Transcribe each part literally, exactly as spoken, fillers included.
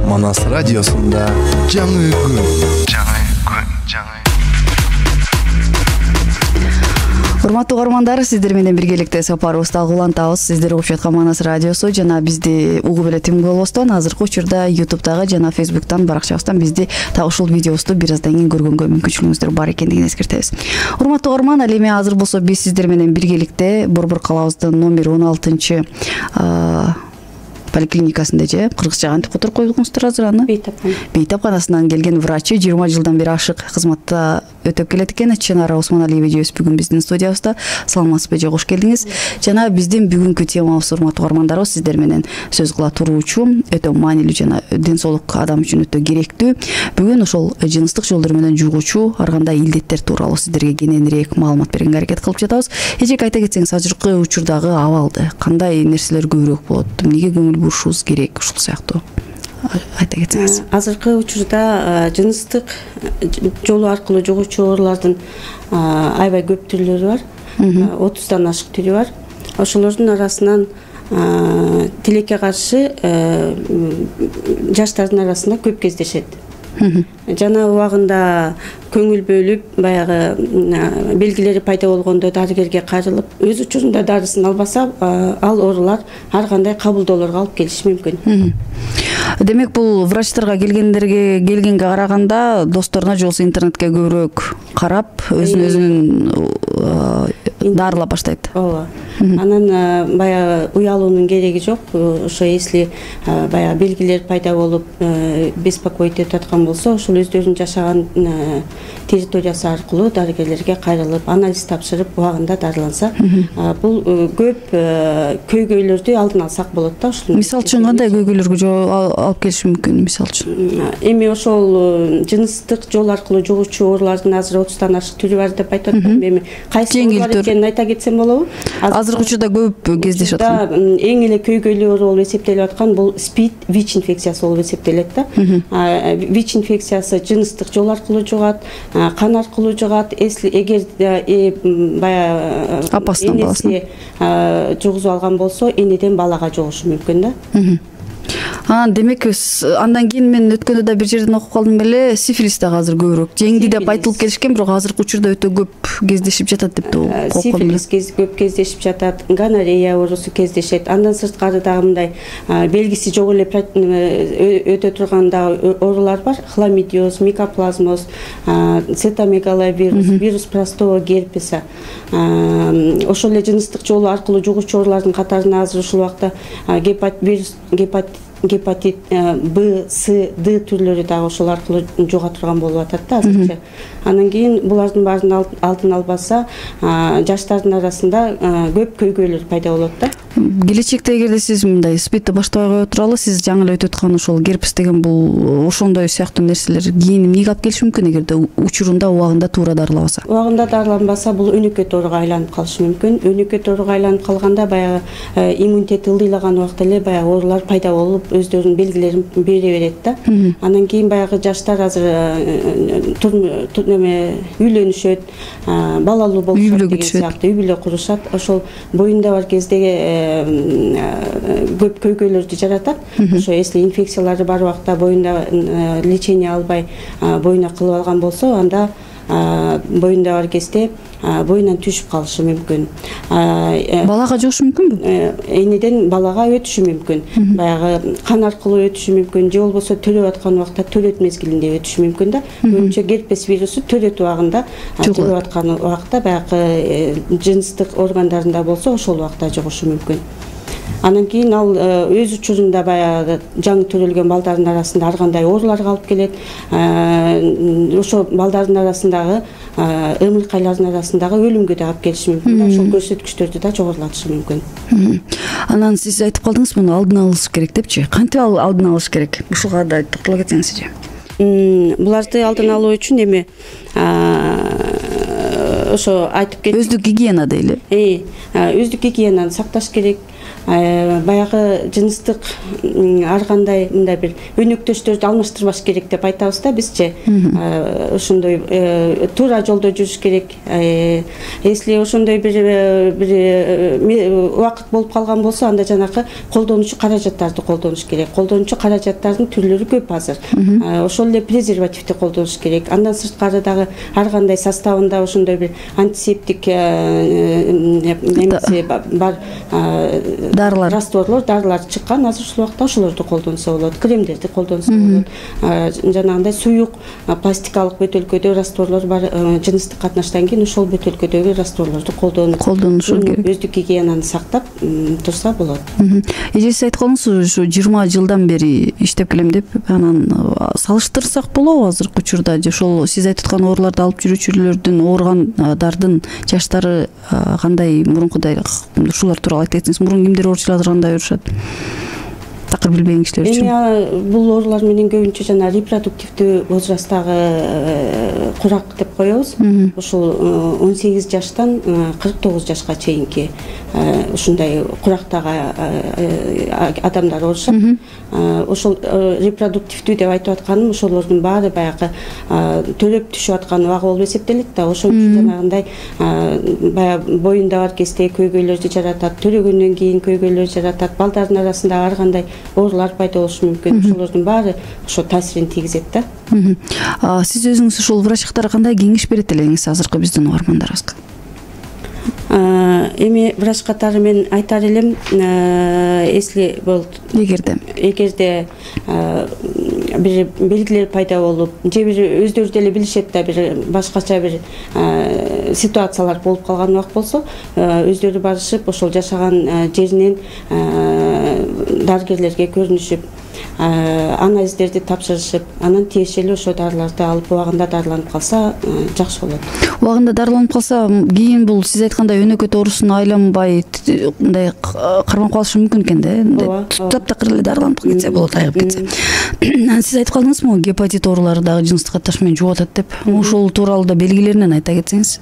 Манас радиосунда жаңы күн. Жаңы күн, жаңы. Урматтуу угармандар, сиздер менен биргеликте сапарыбызды улантабыз. Сиздер угуп жаткан Манас радиосу жана бизди угуп эле тим болбостон азыркы учурда ютубтагы жана фейсбуктан баракчабыздан бизди так ушул видеобузду бир аздан кийин көргөнгө мүмкүнчүлүгүңүздөр бар экендигин эскертебиз. Урматтуу угарман, ал эми азыр болсо биз сиздер менен биргеликте Борбор калабыздын номер он алтынчы поликлиникасында же кыргызча кантип которуп койдуңуздар азыр аны? Бейтапкана. Бейтапканасынан келген врачы жыйырма жылдан бери ашык кызматта өтөп келет экен. Чынара Усманалиева эжебиз бүгүн биздин студиябызда. Саламатсызбы же, кош келдиңиз. Жана биздин бүгүнкү темабыз, урматтуу угармандарыбыз, сиздер менен сөз кыла туруучу өтө маанилүү жана ден соолук адам үчүн өтө керектүү. Бүгүн ошол жыныстык жолдор менен жугуучу ар кандай илдеттер тууралуу сиздерге кененирээк маалымат беренге аракет кылып жатабыз. Эжек, айта кетсеңиз, азыркы учурдагы абалды кандай нерселер көбүрөөк болот? Эмнеге көңүл бурушубуз керек, ушул сыяктуу айта кетсеңиз. Азыркы учурда жыныстык жолу аркылуу жугуучу оорулардын аябай көп түрлөрү бар. отуздан ашык түрү бар. Ошолордун арасынан тилекке каршы жаштардын арасында көп кездешет. Жана убагында көңүл бөлүп, баягы белгилери пайда болгондо дарыгерге кайрылып, өз учурунда дарысын албаса, ал оорулар ар кандай кабылдоолорго алып келиши мүмкүн. Демек, бул врачтарга келгендерге келгенге караганда досторуна же болбосо интернетке көбүрөөк карап, өзүн өзүн дарылап баштайт. Ооба. Анан баягы уялуунун кереги жок. Ошо если баягы белгилер пайда болуп, беспокоить этип аткан болсо, ошол өздөрүнүн жашаган территориясы аркылуу дарыгерлерге кайрылып, анализ тапшырып, убагында дарыланса, бул көп көйгөйлөрдү алдын алсак болот да. Мисалы үчүн кандай көйгөйлөргө алып келиши мүмкүн, мисалы үчүн? Эми ошол жыныстык жол аркылуу жугуучу оорулардын азыр отуздан ашык түрү бар деп айтып атпаймынбы? Эми кайсы оорулар экенин айта кетсем болобу? Азыркы учурда көп кездешип аткан. Эң эле көйгөйлүү оору болуп эсептелип аткан бул СПИД, ВИЧ инфекциясы болуп эсептелет да. ВИЧ инфекциясы жыныстык жол аркылуу жугат, кан аркылуу жугат. Эгер баягы апасынан баласына жугузуп алган болсо, энеден балага жугушу мүмкүн да. Анан демек, андан кийин мен өткөндө да бир жерден окуп калдым беле, сифилис дагы азыр көбүрөөк жеңди деп айтылып келишкен, бирок азыркы учурда өтө көп кездешип жатат деп окуп калдым. Сифилис көп кездешип жатат, гонорея оорусу кездешет. Андан сырткары дагы мындай белгиси жок эле өтө турган дагы оорулар бар. Хламидиоз, микоплазмоз, цитомегаловирус, вирус простого герпеса. Ошол эле жыныстык жолу аркылуу жугуучу оорулардын катарына азыр ушул убакта гепатит гепатит Б, С, Д түрлөрү дагы ошол аркылуу жуга турган болуп атат да азырча. Анан кийин булардын баарын алдын албаса, жаштардын арасында көп көйгөйлөр пайда болот да. Келечекте эгерде сиз мындай СПИДти баштабай кое туралы, сиз жаңы эле өтүп аткан ошол герпес деген бул ошондой сыяктуу нерселер кийин эмнеге алып келиши мүмкүн эгерде учурунда убагында туура дарылабаса? Убагында дарыланбаса, бул өнөкөт ооруга айланып калышы мүмкүн. Өнөкөт ооруга айланып калганда баягы иммунитет ылдыйлаган убакта эле баягы оорулар пайда болуп, өздөрүнүн белгилерин бере берет да. Анан кийин баягы жаштар азыр үйлөнүшөт, балалуу болушат деген сыяктуу үй бүлө курушат. Ошол боюнда бар кезде көп көйгөйлөрдү жаратат. Ошо если инфекциялары бар убакта боюнда лечение албай боюна кылып алган болсо, анда боюнда бар кезде боюнан түшүп калышы мүмкүн. Балага жугушу мүмкүнбү? Энеден балага өтүшү мүмкүн. Баягы кан аркылуу өтүшү мүмкүн, же болбосо төрөп аткан убакта төрөт мезгилинде өтүшү мүмкүн да. Көбүнчө герпес вирусу төрөт убагында, төрөп аткан убакта баягы жыныстык органдарында болсо, ошол убакта жугушу мүмкүн. Анан кийин ал өз учурунда баягы жаңы төрөлгөн балдардын арасында ар кандай ооруларга алып келет. Ошо балдардын арасындагы ымыркайлардын арасындагы өлүмгө да алып келиши мүмкүн. Ошол көрсөткүчтөрдү да жогорулатышы мүмкүн. Анан сиз айтып калдыңыз, муну алдын алыш керек депчи. Кантип алдын алыш керек? Ушуга да токтоло кетсеңизчи. Буларды алдын алуу үчүн эми ошо айтып кеттик. Өздүк гигиена дейли. Өздүк гигиенаны сакташ керек. баягы жыныстык ар кандай мындай бир өнөктөштөрдү алмаштырбаш керек деп айтабыз да бизчи. Ошондой туура жолдо жүрүш керек. Если ошондой бир бир убакыт болуп калган болсо, анда жанагы колдонуучу каражаттарды колдонуш керек. Колдонуучу каражаттардын түрлөрү көп азыр. Ошол эле презервативди колдонуш керек. Андан сырткары дагы ар кандай составында ошондой бир антисептик немеси бар дарылар, растворлор, дарылар чыккан. Азыр ушул убакта ошолорду колдонсо болот, кремдерди колдонсо болот. Жанагындай суюк пластикалык бөтөлкөдө растворлор бар. Жыныстык катнаштан кийин ошол бөтөлкөдөгү растворлорду колдонуп, колдонушу керек. Өздүк гигиенаны сактап турса болот. Эже, сиз айтканыңыз ушу жыйырма жылдан бери иштеп келем деп, анан салыштырсак болобу азыркы учурда? Ошол сиз айтып аткан ооруларды алып жүрүүчүлөрдүн, ооругандардын жаштары кандай, мурункудай? Ушулар тууралуу айта кетсеңиз, мурун кимдер ооручулар кандай урушат? Такыр билбеген кишилер үчүн. Эми бул оорулар менен көбүнчө жана репродуктивдүү возрасттагы курак деп коебуз. Ушул он сегиз жаштан кырк тогуз жашка чейинки ушундай курактагы адамдар оорушат. Ошол репродуктивдүү деп айтып атканым, ошолордун баары баягы төлөп түшүп аткан убагы болуп эсептелет да. Ошол үчүн жанагындай баягы боюнда бар кезде көйгөйлөрдү жаратат, төрөгөндөн кийин көйгөйлөр жаратат, балдардын арасында ар кандай оорулар пайда болушу мүмкүн. Ошолордун баары ошо таасирин тийгизет да. Сиз өзүңүз ушул врачтарга кандай кеңеш берет элеңиз азыркы биздин угармандарыбызга? Эми врач катары мен айтар элем, если болот, эгерде эгерде бир белгилер пайда болуп, же бир өздөрү деле билишет да, бир башкача бир ситуациялар болуп калган убакыт болсо, өздөрү барышып, ошол жашаган жеринен дарыгерлерге көрүнүшүп, анализдерди тапшырышып, анан тиешелүү ошо дарыларды алып убагында дарыланып калса жакшы болот. Убагында дарыланып калса, кийин бул сиз айткандай өнөкөт оорусуна айланбай, мындай карманып калышы мүмкүн экен да. Таптакыр эле дарыланып кетсе болот, айыгып кетсе. Сиз айтып калдыңызбы, гепатит оорулары дагы жыныстык катташ менен жугатат деп. Ошол тууралуу да белгилеринен айта кетсеңиз.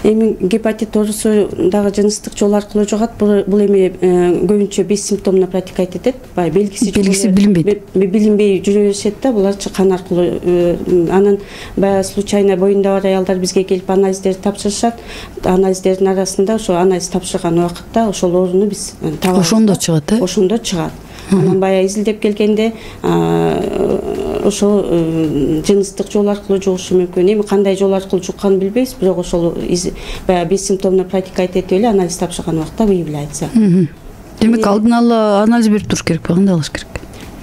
Эми гепатит оорусу дагы жыныстык жол аркылуу жугат. Бул эми көбүнчө бессимптомно протекать этет. Баягы белгиси белгиси билинбейт. Билинбей жүрө беришет да, буларчы кан аркылуу. Анан баягы случайно боюнда бар аялдар бизге келип анализдерди тапшырышат. Анализдердин арасында ошо анализ тапшырган убакытта ошол ооруну биз табабыз. Ошондо чыгат, э? Ошондо чыгат. Анан баягы изилдеп келгенде ошол жыныстык жол аркылуу жугушу мүмкүн. Эми кандай жол аркылуу жукканын билбейбиз, бирок ошол баягы бессимптомно протекать этип эле анализ тапшырган убакта выявляется. Демек алдын ала анализ берип туруш керек, кандай кылыш керек?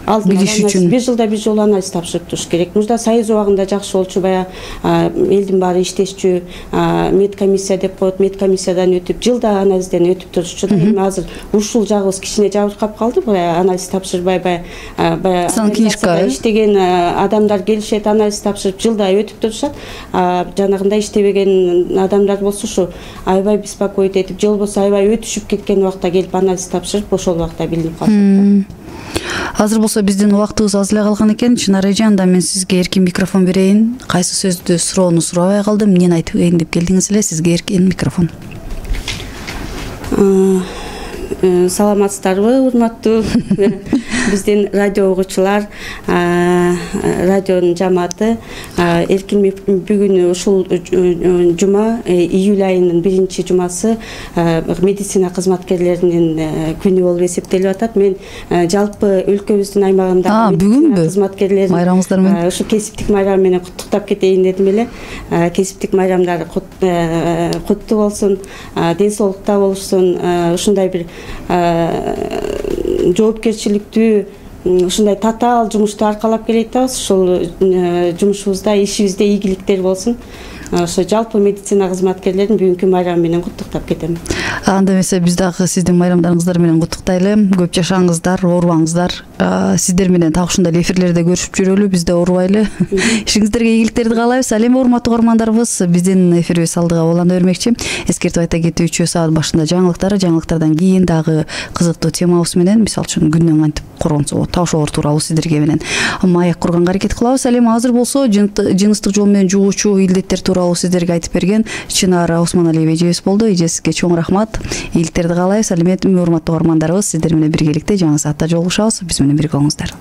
Алдын ала бир жылда бир жолу анализ тапшырып туруш керек. Мурда союз убагында жакшы болчу, баягы элдин баары иштешчү, медкомиссия деп коет, медкомиссиядан өтүп, жылда анализден өтүп турушчу да. Эми азыр ушул жагыбыз кичине жабыркап калды, баягы анализ тапшырбай, баягы баягы иштеген адамдар келишет, анализ тапшырып, жылда өтүп турушат. Жанагындай иштебеген адамдар болсо ушу аябай беспокоить этип, же болбосо аябай өтүшүп кеткен убакта келип анализ тапшырып, ошол убакта билинип калышат. Азыр болсо биздин убактыбыз аз эле калган экен. Чынар эже, анда мен сизге эркин микрофон берейин. Кайсы сөздү, суроону сурабай калдым. Эмнени айтып кетейин деп келдиңиз эле, сизге эркин микрофон. Саламатсыздарбы, урматтуу биздин радио угуучулар, радионун жамааты. Эркин бүгүн ушул жума, июль айынын биринчи жумасы, медицина кызматкерлеринин күнү болуп эсептелип атат. Мен жалпы өлкөбүздүн аймагындагы бүгүнбү кызматкерлерин майрамыңыздар менен ушу кесиптик майрам менен куттуктап кетейин дедим эле. Кесиптик майрамдар куттуу болсун, ден соолукта болушсун, ушундай бир жоопкерчиликтүү, ушундай татаал жумушту аркалап келе жатабыз. Ушул жумушубузда, ишибизде ийгиликтер болсун. Ошо жалпы медицина кызматкерлерин бүгүнкү майрамы менен куттуктап кетем. Анда эмесе биз дагы сиздин майрамдарыңыздар менен куттуктайлы. Көп жашаңыздар, оорубаңыздар. Сиздер менен так ушундай эфирлерде көрүшүп жүрөлү, биз да оорубайлы. Ишиңиздерге ийгиликтерди каалайбыз. Ал эми урматтуу угармандарыбыз, биздин эфирибиз алдыга улана бермекчи. Эскертип айта кетүүчү, саат башында жаңылыктар, жаңылыктардан кийин дагы кызыктуу темабыз менен, мисалы үчүн күндөн кантип коргонсо болот, таш оор тууралуу сиздерге менен маек курганга аракет кылабыз. Ал эми азыр болсо жыныстык жол менен жугуучу илдеттер тууралуу сиздерге айтып берген Чынар Усманалиева эжебиз болду. Эже, сизге чоң рахмат. болот. Ийгиликтерди каалайбыз. Алиметтүү урматтуу угармандарыбыз, сиздер менен биргеликте жаңы саатта жолугушабыз. Биз менен бирге болуңуздар.